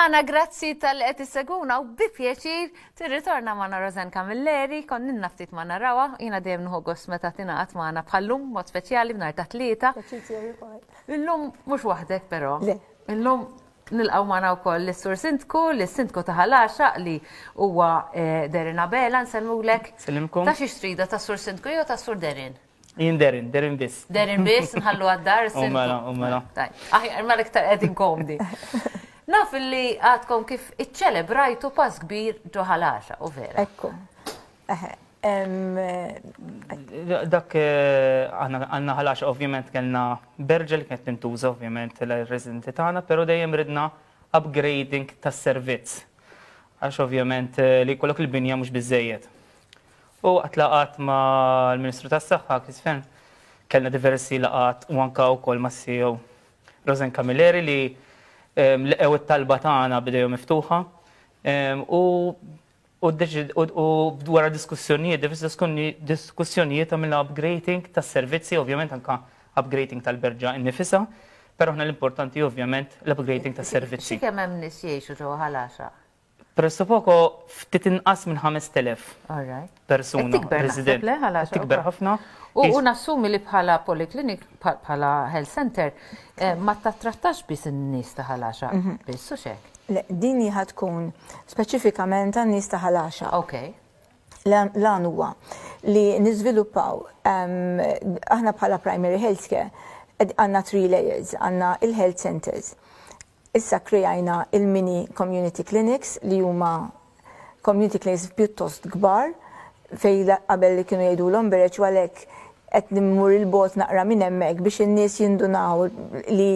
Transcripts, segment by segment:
magħna, grazzi talli qed issegwuna u bi pjaċir tirritorna magħna Rosanne Camilleri, konninna ftit ma narawha, jiena dejjem nieħu gost meta tingħaqad magħna bħallum mod speċjali b'nar ta' tlieta. Illum mhux waħdek però. Illum nilqgħu magħna wkoll lis-Sur Sindku, lis-Sindku ta' Ħal Għaxaq li huwa eh, Derin Abela, nsellmulek. Sellimkom. Ta' xi trida ta' Sur Sindku jew ta' Sur Derin? Jien Derin, Derin biss. Derin biss, nħallu għad-dar. U mela, u mela. Aħjar mela iktar qegħdin komdi. Naf li għadkom kif iċċelebrajtu pass kbir ġo Ħal Għaxaq, u vera. Ekku. Dak eh, għandna Ħal Għaxaq ovvjament kellna berġa li kienet tintuża ovvjament l-residenti tagħna, però dejjem ridna upgrading tas-servizz. Għax ovvjament eh, li jkollok il-binja mhux biżejjed. U waqt laqgħat mal-Ministru tas-Saħħa, Chris Fearne, kellna diversi laqgħat u anke wkoll mas-CEO Rosanne Camilleri li laqgħu it-talba tagħna b'idejhom miftuħa u u wara diskussjonijiet, diversi diskussjonijiet għamilna upgrading tas-servizzi, ovvjament anke upgrading tal-berġa innifisha, però aħna l-importanti ovvjament l-upgrading tas-servizzi. Xi kemm hemm nies jgħixu ġewwa Ħal Għaxaq? Presso poco ftit inqas minn 5,000 persuna resident. Tikber ħafna. U nassumi li bħala polyclinic, bħala health center, eh, ma tattrattax biss in-nies ta' Ħal Għaxaq mhm. biss u xek. Le, din hi tkun speċifikament għan-nies ta' Ħal Għaxaq. Ok. L-għan huwa li niżviluppaw aħna bħala primary healthcare għandna three layers, għandna il-health centers. Issa kkreajna il-mini community clinics li huma community clinics pjuttost kbar fejn qabel kienu jgħidulhom bereġ u għalhekk qed immur 'il bogħod naqra minn hemmhekk biex in-nies jindunaw li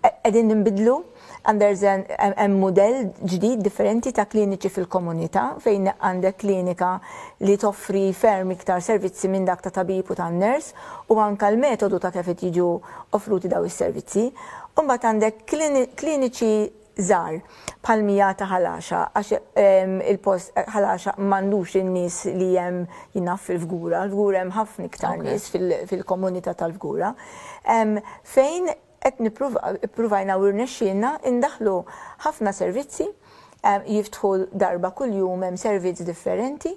qegħdin ninbidlu and there's an hemm mudell ġdid differenti ta' kliniċi fil-komunità fejn għandek klinika li toffri ferm iktar servizzi minn dak ta' tabib u tan-nurse u anke l-metodu ta' kif qed jiġu offruti daw is-servizzi. U mbagħad għandek kliniċi żgħar bħal mija ta' Ħal Għaxaq għax il-post Ħal Għaxaq m'għandux in-nies li hemm jien naf fil-Fgura, l-Fgura hemm ħafna iktar nies fil-komunità tal-Fgura. Fejn qed nippruvajna u rnexxielna indaħħlu ħafna servizzi jiftħu darba kuljum hemm servizz differenti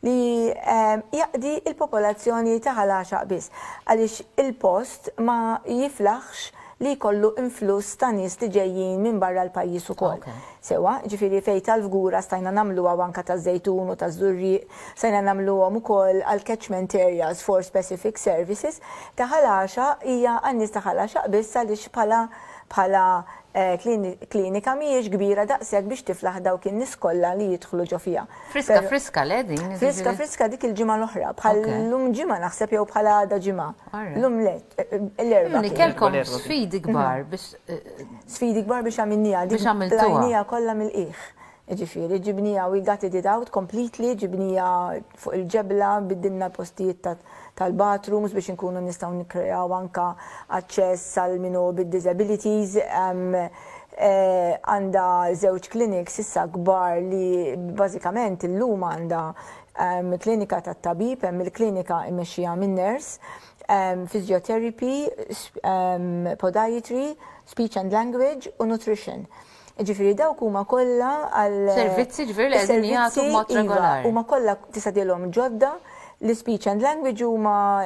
li jaqdi l-popolazzjoni ta' Ħal Għaxaq biss għaliex il-post ma jiflaħx li jkollu influss ta' nies li ġejjin minn barra l-pajjiż ukoll. Sewwa, ġifieri fejn tal-Fgura stajna nagħmluha u anke taż-Żejtun u taż-Żurrieq stajna nagħmluhom ukoll għal catchment areas for specific services, ta' Ħal Għaxaq hija għan-nies ta' Ħal Għaxaq biss għaliex bħala bħala klinika mhijiex kbira daqshekk biex tiflaħ dawk in-nies kollha li jidħlu ġo fiha. Friska friska le din? Friska friska dik il-ġimgħa l-oħra, bħal lum ġimgħa naħseb jew bħal għada ġimgħa. Lum le, l-Erbgħa. Kellkom sfidi kbar biex. Sfidi kbar biex għamilniha. Biex għamiltuha. Tlajniha kollha mill-qiegħ. Jiġifieri ġibniha we gutted it out completely, ġibniha fuq il-ġebla, biddilna l-postijiet tal-bathrooms biex inkunu nistgħu nikkreaw anke aċċess għal min hu bid-disabilities. Għandha żewġ clinics issa kbar li bażikament illum għandha klinika tat-tabib, hemm il-klinika mmexxija minn nurse, physiotherapy, podiatry, speech and language u nutrition. Ġifieri dawk huma kollha għal. Servizzi ġifieri li qegħdin jagħtu b'mod iva, regolari. Huma kollha tista' tgħidilhom ġodda, l-speech and language huma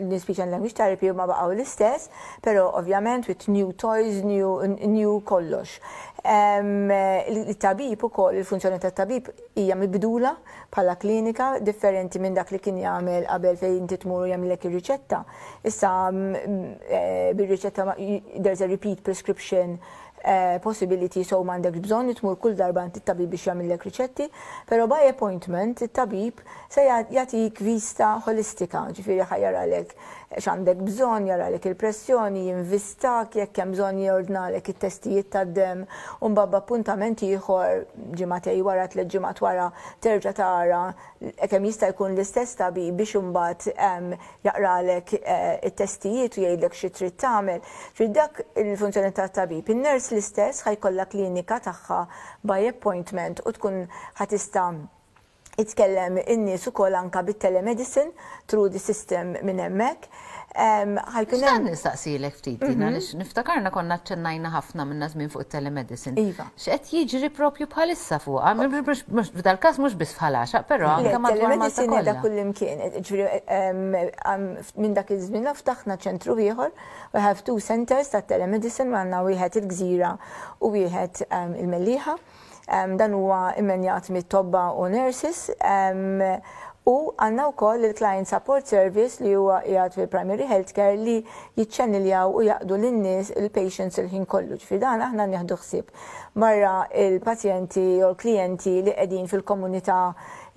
l-speech and language therapy huma baqgħu l-istess, però ovvjament with new toys, new, new kollox. Il-tabib ukoll, il-funzjoni tat-tabib hija mibdula bħala klinika differenti minn dak li kien jagħmel qabel fejn inti tmur u jagħmlek ir-riċetta. Issa bir-riċetta there's a repeat prescription possibility so m'għandekx bżonn li tmur kull darba għand it-tabib biex jagħmillek riċetti, però by appointment it-tabib se jagħtik vista ħolistika, ġifieri ħa jaralek x'għandek bżonn, jaralek il-pressjoni, jinvistak, jekk hemm bżonn jordnalek it-testijiet tad-demm u mbagħad b'appuntament ieħor ġimagħtej wara, tlett ġimgħat wara terġa' tara kemm jista' jkun l-istess tabib biex imbagħad jaqralek it-testijiet u jgħidlek xi trid tagħmel. Ġifieri dak il-funzjoni tat-tabib. In-nurse l-istess ħa jkollha klinika tagħha by appointment u tkun ħa tista' Itkellem in-nies ukoll anka bit-telemedicine through the system minn hemmhekk. Ħa jkun hemm. Nistaqsilek ftit din mhm. għaliex niftakarna konna ċċennajna ħafna minna żmien fuq it-telemedicine. Iva. X'qed jiġri propju bħalissa fuqha, f'dal-każ mhux biss bħal għaxaq, però anke madwar Malta kollha. Telemedicine kullimkien, ġifieri minn dak iż-żmien ftaħna ċentru ieħor, we have two centers ta' telemedicine, għandna wieħed il-Gżira u wieħed il-Mellieħa. Dan huwa immenjat mit-tobba u nurses u għandna wkoll il-Client Support Service li huwa qiegħed fil-Primary Healthcare li jiċċenniljaw u jaqdu lin-nies il-patients il-ħin kollu. Ġifieri dan aħna nieħdu ħsieb barra il-pazjenti jew l-klijenti li qegħdin fil-komunità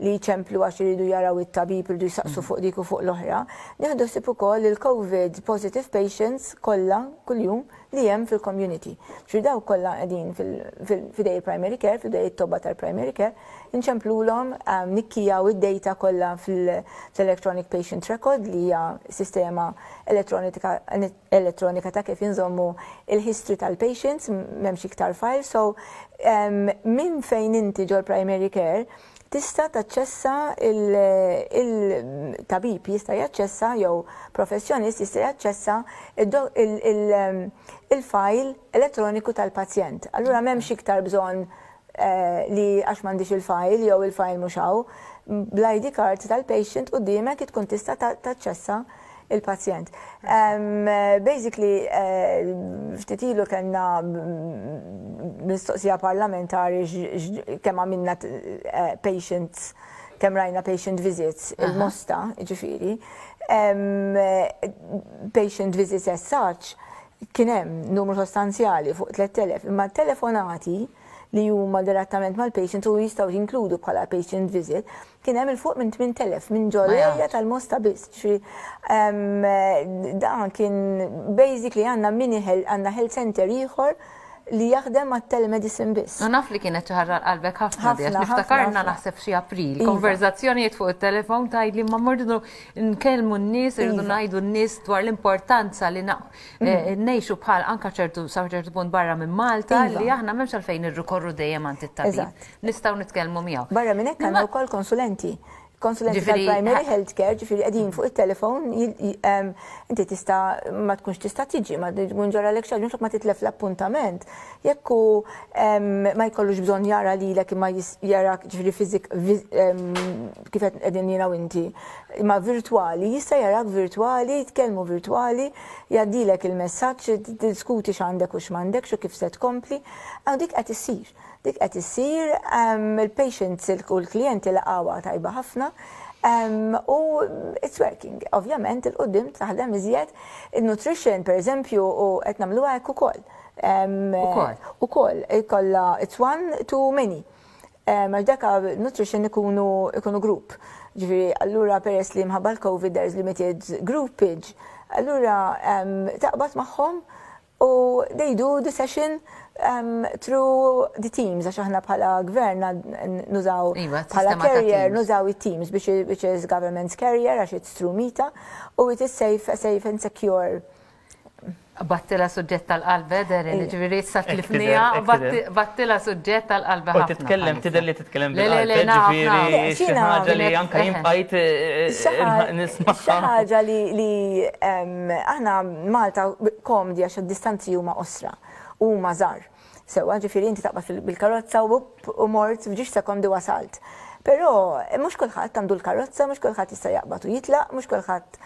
li jċemplu għax iridu jaraw it-tabib, iridu jsaqsu fuq dik u fuq l-oħra. Nieħdu ħsieb ukoll il-COVID positive patients kollha kuljum li hemm fil-community. Ġifieri dawk kollha qegħdin f'idej il-primary care, f'idej it-tobba tal-primary care, inċemplulhom nikkijaw id-data kollha fl-electronic patient record li hija sistema elettronika ta' kif inżommu il-history tal-patients, m'hemmx iktar file, so minn fejn inti ġol-primary care tista' taċċessa il-tabib jista' jaċċessa jew professjonist jista' jaċċessa il-file elettroniku tal-pazjent. Allura m'hemmx iktar bżonn eh, li għax m'għandix il-file jew il-file mhux hawn, bl-ID card tal-patient quddiemek tkun tista' taċċessa il-pazjent. Basically, eh, ftit ilu kellna mistoqsija parlamentari kemm għamilna eh, patients kemm rajna patient visits il-Mosta, ġifieri, patient visits as such, kien hemm numru sostanzjali fuq 3000, imma telefonati li huma direttament mal-patient u jistgħu jinkludu bħala patient visit, kien hemm il fuq minn 8000 minn ġol-area tal-Mosta biss. Dan kien basically għandna mini għandna health center ieħor li jaħdem ma' telemedicine biss. U naf li kienet xi ħaġa qalbek ħafna di, niftakarna naħseb xi April, iva. konverzazzjonijiet fuq it-telefon tgħidli ma mordu nkellmu n-nies, irridu iva. ngħidu n-nies dwar l-importanza li eh, ngħixu bħal anka ċertu sa ċertu punt barra minn Malta iva. li aħna m'hemmx għalfejn nirrikorru dejjem għand it-tabib. Nistgħu nitkellmu miegħu. Barra minn hekk għandna wkoll konsulenti konsulenti tal-primary health care, ġifieri qegħdin fuq it-telefon, inti tista' ma tkunx tista' tiġi, ma tkun ġara lek xi ma titlef l-appuntament. Jekk hu ma jkollux bżonn jara lilek imma jarak ġifieri fiżik kif qed qegħdin jiena u inti, imma virtwali, jista' jarak virtwali, jitkellmu virtwali, jgħaddilek il-messaġġ, tiddiskuti x'għandek u x'm'għandekx u kif se tkompli. Dik qed issir. Dik qed issir, il-patients u l-klijenti laqgħuha tajba ħafna u it's working. Ovvjament il-qudiem taħdem iżjed. Il-nutrition, per eżempju, u qed nagħmluha hekk ukoll. Ukoll. Ukoll, ikollha it's one to many. Għax daka nutrition ikunu ikunu group. Ġifieri, allura peress li mħabba l-COVID there's limited groupage, allura taqbad magħhom u they do the session through the teams, għax aħna bħala gvern nużaw iva, bħala carrier, nużaw it-teams, which is government's carrier, għax it's through MITA, u it is safe, safe and secure. Battila suġġett tal-qalba, Derin, ġifieri issa tlifnija, battila suġġett tal-qalba. U titkellem, tidher li titkellem bil-qalba, ġifieri xi ħaġa li anke jien bqajt eh, nisma' Xi ħaġa li aħna Malta komdi għax id-distanzi huma qosra u huma żgħar. Sewwa, ġifieri inti taqbad bil-karozza u u mort f'ġiex sekondi wasalt. Però mhux kulħadd għandu l-karozza, mhux kulħadd jista' jaqbad u jitlaq, mhux kulħadd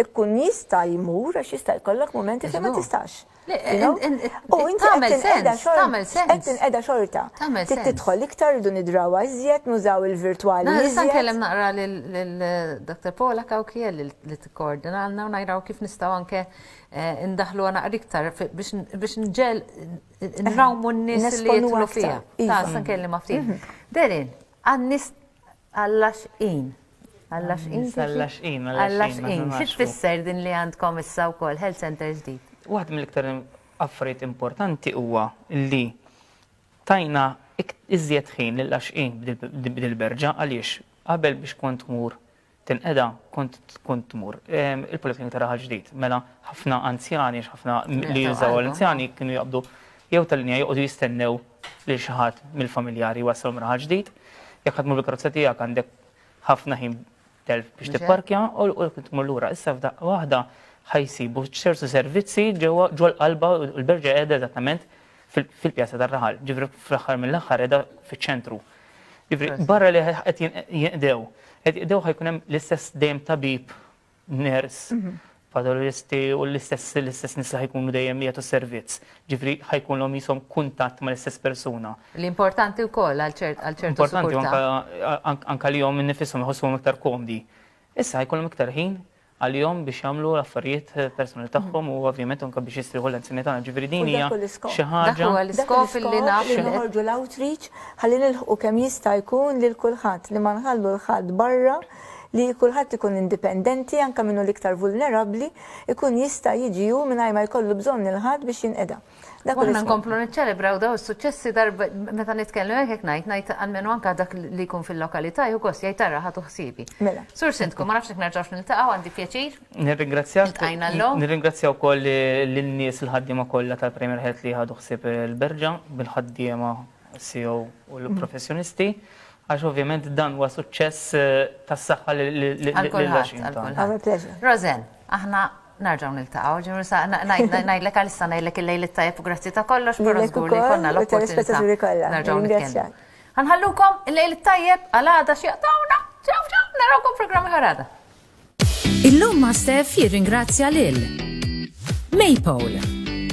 ikun jista' jmur għax jista' jkollok mumenti fejn ma tistax. U inti tagħmel sens, tagħmel sens. Qed tinqeda xorta. Trid tidħol iktar irridu nidrawha iżjed, nużaw il-virtwali. Nista' nkellem naqra lil Dr. Paula Cauchiel li tikkoordinalna u najraw kif nistgħu anke eh, ndaħlu naqra iktar biex nġel nrawmu n-nies li jidħlu fiha. Ta' sa nkellem ftit. Mhm. Derin, għan-nies għall-għaxqin. Għall-għaxqin. Għall-għaxqin. Għall-għaxqin. Xi tfisser din li għandkom issa wkoll health center ġdid? Waħda mill-iktar affarijiet importanti huwa li tajna iżjed ħin lill-għaxqin b'dil-berġa għaliex qabel biex kont tmur tinqeda kont tkun tmur il-Poliklinika ta' Raħal Ġdid. Mela ħafna anzjani, ħafna li jużaw l-anzjani kienu jaqbdu jew tal-linja joqogħdu jistennew lil xi ħadd mill-familjari jwassalhom Raħal Ġdid. Jekk ħa tmur bil-karozza tiegħek għandek ħafna ħin telf biex tipparkja u tmur lura. Issa f'daqqa waħda ħa jsibu ċertu servizzi ġewwa ġol-qalba u l-Berġa qiegħda eżattament fil-pjazza tar-raħal, ġifieri fl-aħħar mill-aħħar qiegħda fiċ-ċentru. Ġifieri barra li qed jinqdew, qed jinqdew ħa jkun hemm l-istess dejjem tabib, nurse, patoloġisti u l-istess l-istess nies li ħa jkunu dejjem jagħtu servizz. Ġifieri ħa jkunlhom qishom kuntatt mal-istess persuna. Li importanti wkoll għal ċertu Importanti anka anka li jom nifisom iħossuhom iktar komdi. Issa ħa jkollhom iktar ħin għalihom biex jagħmlu l-affarijiet personali tagħhom u ovvjament anke biex jistrieħu l-anzjani tagħna. Ġifieri din hija xi ħaġa. Dak huwa l-iskop li naf li noħorġu l-outreach ħalli nilħqu kemm jista' jkun lil kulħadd li ma nħallu 'l ħadd barra li kulħadd ikun indipendenti anke min hu l-iktar vulnerabbli ikun jista' jiġi hu mingħajr ma jkollu bżonn 'il ħadd biex jinqeda. Dak u aħna nkomplu niċċelebraw daw is-suċċessi darba meta nitkellmu hekk hekk ngħid ngħid almenu anke dak li jkun fil-lokalità jieħu gost jgħid tara ħadu ħsiebi. Mela. Sur Sindku, ma nafx jekk nerġgħux niltaqgħu għandi pjaċir. Nirringrazzjak. Iltqajna llum. Nirringrazzja wkoll lin-nies il-ħaddiema kollha tal-Premier Health li ħadu ħsieb il-Berġa bil-ħaddiema CEO u l-professjonisti għax ovvjament dan huwa suċċess tas-saħħa lil Għal kulħadd, għal kulħadd. Rosanne, aħna Narġgħu niltaqgħu, ġifieri sa ngħidlek għalissa ngħidlek il-lejl it-tajjeb u grazzi ta' kollox, però żgur li jkollna l-opportunità nerġgħu nitkellmu. Ħa nħallukom il-lejl it-tajjeb għal għada x'jaqtgħuna. Ciao ciao, narawkom programm ieħor għada. Illum ma' Steph jirringrazzja lil Maypole,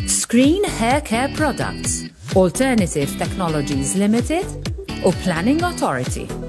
Screen Hair Care Products, Alternative Technologies Limited u Planning Authority.